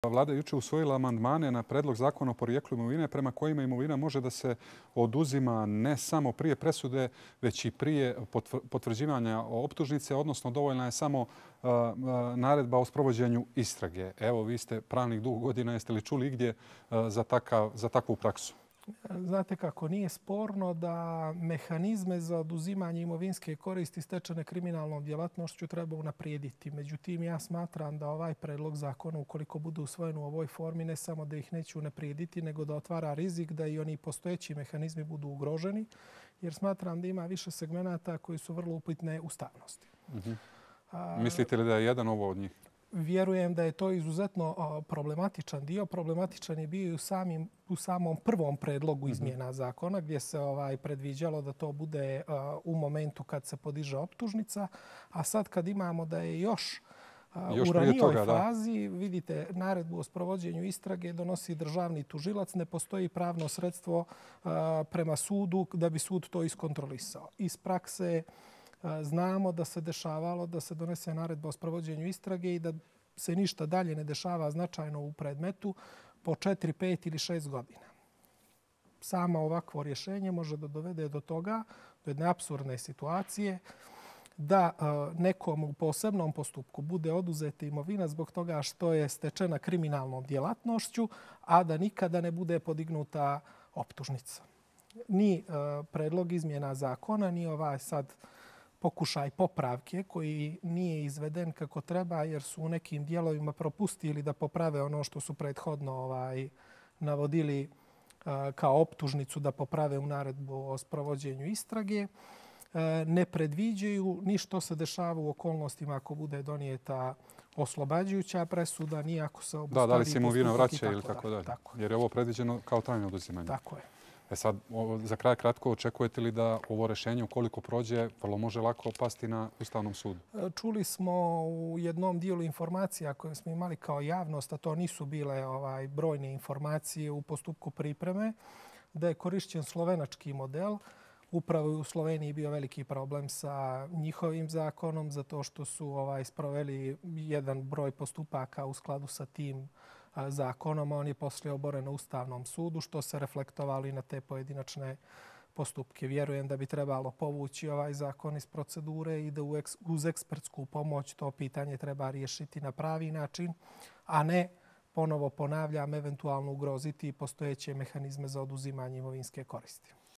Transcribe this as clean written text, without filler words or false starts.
Vlada je jučer usvojila amandmane na predlog zakona o porijeklu imovine prema kojima imovina može da se oduzima ne samo prije presude, već i prije potvrđivanja optužnice, odnosno dovoljna je samo naredba o sprovođenju istrage. Evo, vi ste pravnik dugo godina, jeste li čuli igdje za takvu praksu? Znate kako, nije sporno da mehanizme za oduzimanje imovinske koristi stečene kriminalnom djelatnošću treba unaprijediti. Međutim, ja smatram da ovaj predlog zakona, ukoliko bude usvojen u ovoj formi, ne samo da ih neće unaprijediti, nego da otvara rizik da i oni postojeći mehanizmi budu ugroženi, jer smatram da ima više segmenata koji su vrlo upitne ustavnosti. Mislite li da je jedan ovo od njih? Vjerujem da je to izuzetno problematičan dio. Problematičan je bio i u samom prvom predlogu izmjena zakona gdje se predviđalo da to bude u momentu kad se podiže optužnica. A sad kad imamo da je još u ranijoj fazi, vidite, naredbu o sprovođenju istrage donosi državni tužilac, ne postoji pravno sredstvo prema sudu da bi sud to iskontrolisao. Iz prakse znamo da se dešavalo da se donese naredba o sprovođenju istrage i da se ništa dalje ne dešava značajno u predmetu po 4, 5 ili 6 godina. Samo ovakvo rješenje može da dovede do toga, do jedne apsurdne situacije, da nekom u posebnom postupku bude oduzeta imovina zbog toga što je stečena kriminalnom djelatnošću, a da nikada ne bude podignuta optužnica. Ni predlog izmjena zakona, ni ovaj sad pokušaj popravke koji nije izveden kako treba jer su u nekim dijelovima propustili da poprave ono što su prethodno navodili kao optužnicu da poprave u naredbu o sprovođenju istrage. Ne predviđaju ni što se dešava u okolnostima ako bude donijeta oslobađajuća presuda, ni ako se obustavi da li se imovina vraća ili tako dalje. Jer je ovo predviđeno kao trajno oduzimanje. Tako je. Sad, za kraj kratko, očekujete li da ovo rješenje, ukoliko prođe, vrlo može lako pasti na Ustavnom sudu? Čuli smo u jednom dijelu informacija koje smo imali kao javnost, a to nisu bile brojne informacije u postupku pripreme, da je korišćen slovenački model. Upravo je u Sloveniji bio veliki problem sa njihovim zakonom, zato što su sproveli jedan broj postupaka u skladu sa tim zakonom. On je poslije oboren na Ustavnom sudu, što se reflektovalo i na te pojedinačne postupke. Vjerujem da bi trebalo povući ovaj zakon iz procedure i da uz ekspertsku pomoć to pitanje treba riješiti na pravi način, a ne, ponovo ponavljam, eventualno ugroziti postojeće mehanizme za oduzimanje imovinske koristi.